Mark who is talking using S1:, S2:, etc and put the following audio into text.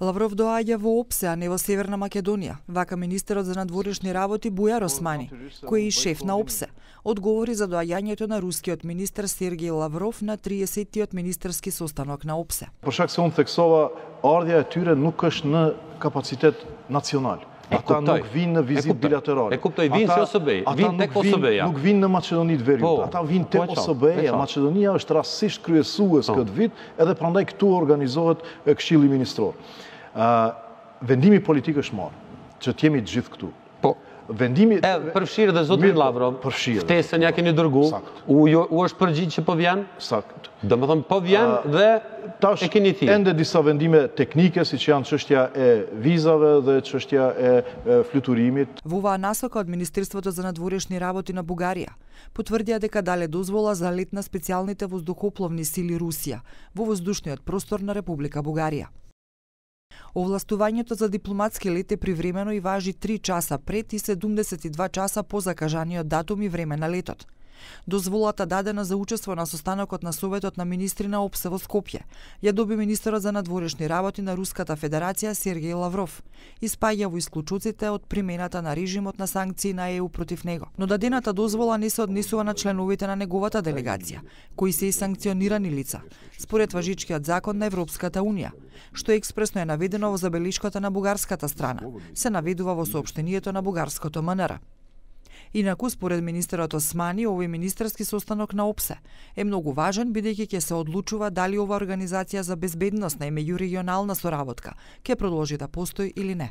S1: Лавров доаѓа во ОПСЕ, а не во Северна Македонија, вака министерот за надворешни работи Бујар Османи, кој е и шеф на ОПСЕ, одговори за доаѓањето на рускиот министер Сергеј Лавров на 30-тиот министерски состанок на ОПСЕ.
S2: Për shkak se unë theksova, ardhja e tyre nuk është në kapacitet nacional. Ata nuk vinë në vizitë bilaterale.
S3: E kuptoj, vinë si OSBE, vinë tek OSBE-ja.
S2: Nuk vinë në Maqedoni të Veriut, ata vinë tek OSBE-ja. Maqedonia është rastësisht kryesues këtë vit, edhe prandaj këtu organizohet Këshilli Ministror. Vendimi politik është marrë, që t'jemi të gjithë këtu. Vendimi
S3: përfshirë dhe zotrin Lavrov, ftesën ja keni dërgu, u është përgjigj që po vjen?
S2: Sakt.
S3: Domethënë po vjen dhe e keni thirrë.
S2: Ende disa vendime teknike, siç janë çështja e vizave dhe çështja e fluturimit.
S1: Во оваа насока од Министерството за надворешни работи на Бугарија потврдија дека дале дозвола за лет на специјалните воздухопловни сили Русија во воздушниот простор на Република Бугарија. Овластувањето за дипломатски лет е привремено и важи 3 часа пред и 72 часа по закажаниот датум и време на летот. Дозволата дадена за учество на состанокот на Советот на министри на ОПСЕ во Скопје ја доби министерот за надворешни работи на Руската Федерација Сергеј Лавров и спаѓа во исклучоците од примената на режимот на санкции на ЕУ против него. Но дадената дозвола не се однесува на членовите на неговата делегација, кои се и санкционирани лица, според важичкиот закон на Европската Унија, што експресно е наведено во забелишката на бугарската страна, се наведува во соопштението на бугарското МНР. Инаку, според министерот Османи, овој министерски состанок на ОПСЕ е многу важен, бидејќи ќе се одлучува дали ова организација за безбедност на меѓурегионална соработка ќе продолжи да постои или не.